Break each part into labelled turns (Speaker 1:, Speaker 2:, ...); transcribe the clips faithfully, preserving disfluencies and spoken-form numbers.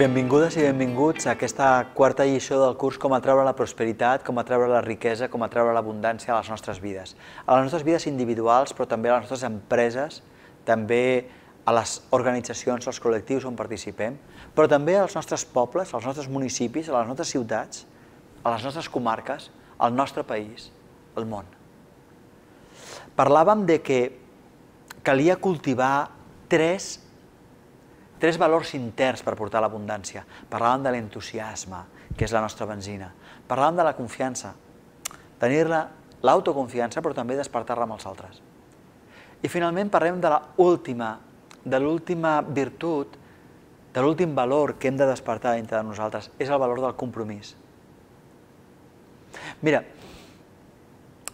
Speaker 1: Benvingudes i benvinguts a aquesta quarta lliçó del curs Com atreure la prosperitat, com atreure la riquesa, com atreure l'abundància a les nostres vides. A les nostres vides individuals, però també a les nostres empreses, també a les organitzacions, als col·lectius on participem, però també als nostres pobles, als nostres municipis, a les nostres ciutats, a les nostres comarques, al nostre país, al món. Parlàvem de que calia cultivar tres Tres valors interns per portar l'abundància. Parlàvem de l'entusiasme, que és la nostra benzina. Parlàvem de la confiança, tenir-la, l'autoconfiança, però també despertar-la amb els altres. I finalment parlem de l'última, de l'última virtut, de l'últim valor que hem de despertar dintre de nosaltres, és el valor del compromís. Mira,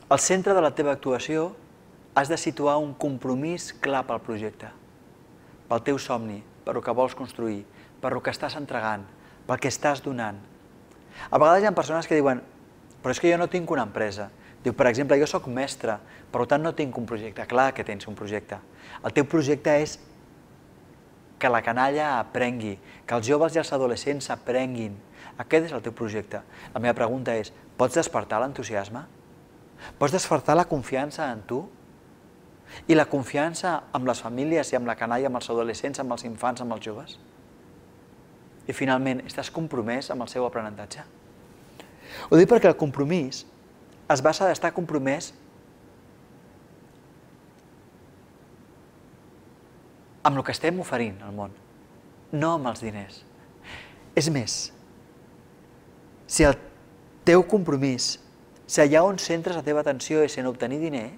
Speaker 1: al centre de la teva actuació has de situar un compromís clar pel projecte, pel teu somni, per el que vols construir, per el que estàs entregant, pel que estàs donant. A vegades hi ha persones que diuen, però és que jo no tinc una empresa. Diu, per exemple, jo soc mestre, per tant no tinc un projecte. Clar que tens un projecte. El teu projecte és que la canalla aprengui, que els joves i els adolescents aprenguin. Aquest és el teu projecte. La meva pregunta és, pots despertar l'entusiasme? Pots despertar la confiança en tu? I la confiança amb les famílies i amb la canalla, amb els adolescents, amb els infants, amb els joves? I finalment, estàs compromès amb el seu aprenentatge? Ho dic perquè el compromís es basa d'estar compromès amb el que estem oferint al món, no amb els diners. És més, si el teu compromís, si allà on centres la teva atenció és en obtenir diner,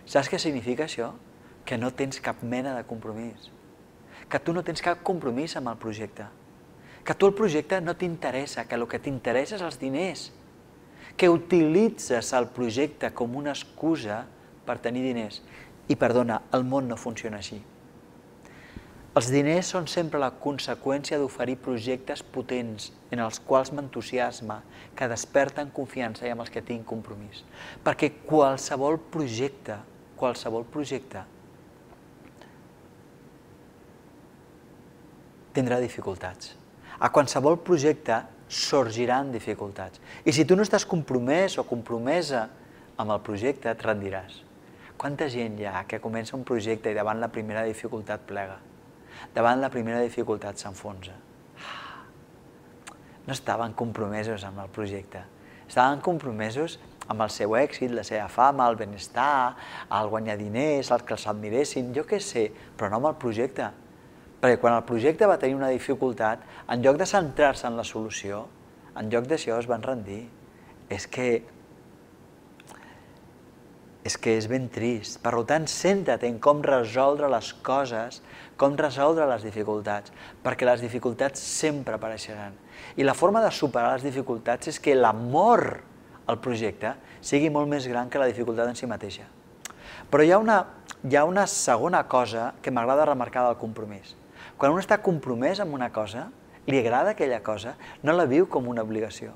Speaker 1: saps què significa això? Que no tens cap mena de compromís. Que tu no tens cap compromís amb el projecte. Que tu el projecte no t'interessa, que el que t'interessa és els diners. Que utilitzes el projecte com una excusa per tenir diners. I perdona, el món no funciona així. Els diners són sempre la conseqüència d'oferir projectes potents en els quals m'entusiasma, que desperten confiança i amb els que tinc compromís. Perquè qualsevol projecte qualsevol projecte tindrà dificultats. A qualsevol projecte sorgiran dificultats. I si tu no estàs compromès o compromesa amb el projecte, et rendiràs. Quanta gent hi ha que comença un projecte i davant la primera dificultat plega? Davant la primera dificultat s'enfonsa. No estaven compromesos amb el projecte. Estaven compromesos amb el seu èxit, la seva fama, el benestar, el guanyar diners, els que els admiressin, jo què sé, però no amb el projecte. Perquè quan el projecte va tenir una dificultat, en lloc de centrar-se en la solució, en lloc d'això es van rendir. És que... és que és ben trist. Per tant, centra't en com resoldre les coses, com resoldre les dificultats, perquè les dificultats sempre apareixeran. I la forma de superar les dificultats és que l'amor el projecte sigui molt més gran que la dificultat en si mateixa. Però hi ha una, hi ha una segona cosa que m'agrada remarcar del compromís. Quan un està compromès amb una cosa, li agrada aquella cosa, no la viu com una obligació.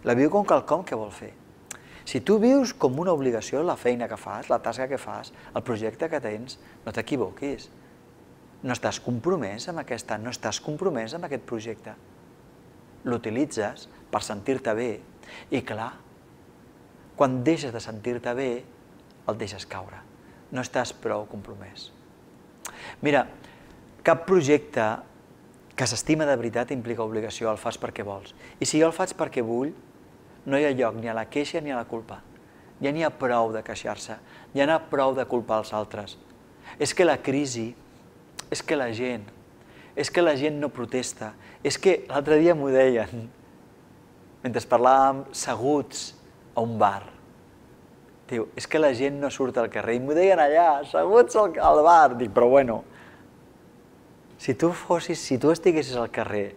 Speaker 1: La viu com quelcom que vol fer. Si tu vius com una obligació la feina que fas, la tasca que fas, el projecte que tens, no t'equivoquis. No estàs compromès amb aquesta, no estàs compromès amb aquest projecte. L'utilitzes per sentir-te bé i, clar, quan deixes de sentir-te bé, el deixes caure. No estàs prou compromès. Mira, cap projecte que s'estima de veritat implica obligació, el fas perquè vols. I si jo el faig perquè vull, no hi ha lloc ni a la queixa ni a la culpa. Ja n'hi ha prou de queixar-se, ja n'hi ha prou de culpar els altres. És que la crisi, és que la gent, és que la gent no protesta, és que l'altre dia m'ho deien, mentre parlàvem seguts a un bar. Diu, és que la gent no surt al carrer. I m'ho deien allà, seguts al bar. Dic, però bueno, si tu fossis, si tu estiguessis al carrer,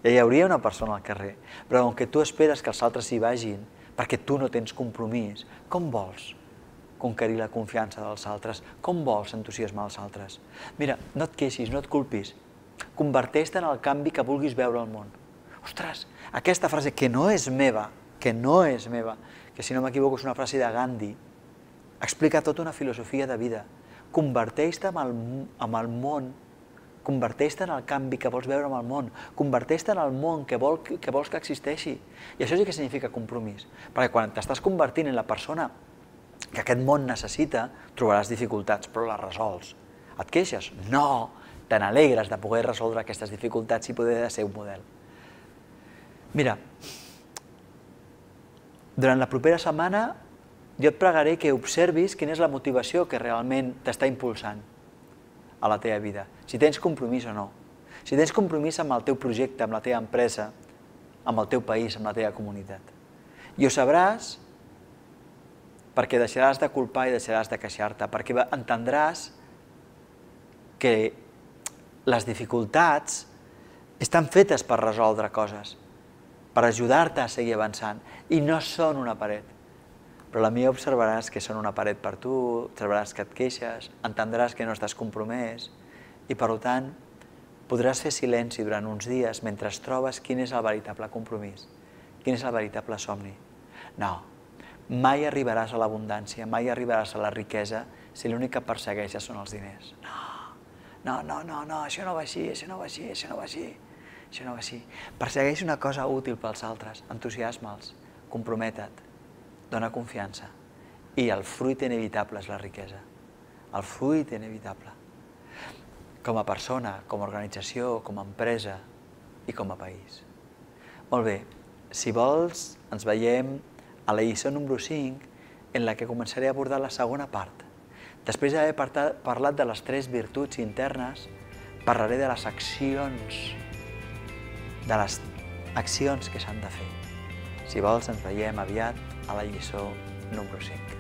Speaker 1: ja hi hauria una persona al carrer, però com que tu esperes que els altres hi vagin, perquè tu no tens compromís, com vols conquerir la confiança dels altres? Com vols entusiasmar els altres? Mira, no et queixis, no et culpis. Converteix-te en el canvi que vulguis veure al món. Ostres, aquesta frase que no és meva, que no és meva, que si no m'equivoco és una frase de Gandhi, explica tota una filosofia de vida. Converteix-te en el món Converteix-te en el canvi que vols veure en el món. Converteix-te en el món que, vol, que vols que existeixi. I això sí que significa compromís. Perquè quan t'estàs convertint en la persona que aquest món necessita, trobaràs dificultats, però les resols. Et queixes? No! Te n'alegres de poder resoldre aquestes dificultats i poder ser un model. Mira, durant la propera setmana jo et pregaré que observis quina és la motivació que realment t'està impulsant a la teva vida, si tens compromís o no. Si tens compromís amb el teu projecte, amb la teva empresa, amb el teu país, amb la teva comunitat. I ho sabràs perquè deixaràs de culpar i deixaràs de queixar-te, perquè entendràs que les dificultats estan fetes per resoldre coses, per ajudar-te a seguir avançant, i no són una paret. Però la meva observaràs que són una paret per tu, observaràs que et queixes, entendràs que no estàs compromès i, per tant, podràs fer silenci durant uns dies mentre trobes quin és el veritable compromís, quin és el veritable somni. No, mai arribaràs a l'abundància, mai arribaràs a la riquesa si l'únic que persegueixes són els diners. No, no, no, no, això no va així, això no va així, això no va així, això no va així. Persegueix una cosa útil pels altres, entusiasma'ls, compromete't, dona confiança, i el fruit inevitable és la riquesa. El fruit inevitable. Com a persona, com a organització, com a empresa i com a país. Molt bé, si vols, ens veiem a la lliçó número cinc, en la que començaré a abordar la segona part. Després d'haver parlat de les tres virtuts internes, parlaré de les accions, de les accions que s'han de fer. Si vols, ens veiem aviat a la lliçó número cinc.